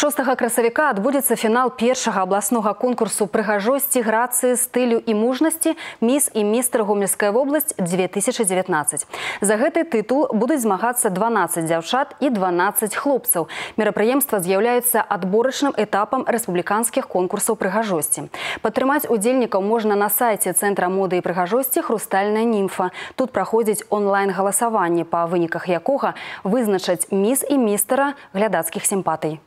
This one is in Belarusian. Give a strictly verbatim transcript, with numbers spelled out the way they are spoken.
шостага красавіка адбудзецца фінал першага абласнога конкурсу прыгажосці, грацыі, стылю і мужнасці «Міс і містер Гомельская вобласць две тысячи девятнадцать». За гэты тытул будуць змагацца дванаццаць дзяўчат і дванаццаць хлопцаў. Мерапрыемства з'яўляецца адборачным этапам рэспубліканскіх конкурсаў прыгажосці. Падтрымаць удзельнікаў можна на сайце Цэнтра моды і прыгажосці «Хрустальная німфа». Тут праходзіць онлайн-галасаванне, па выніках якога вызначаць міс і містера глядацкіх сімпатый.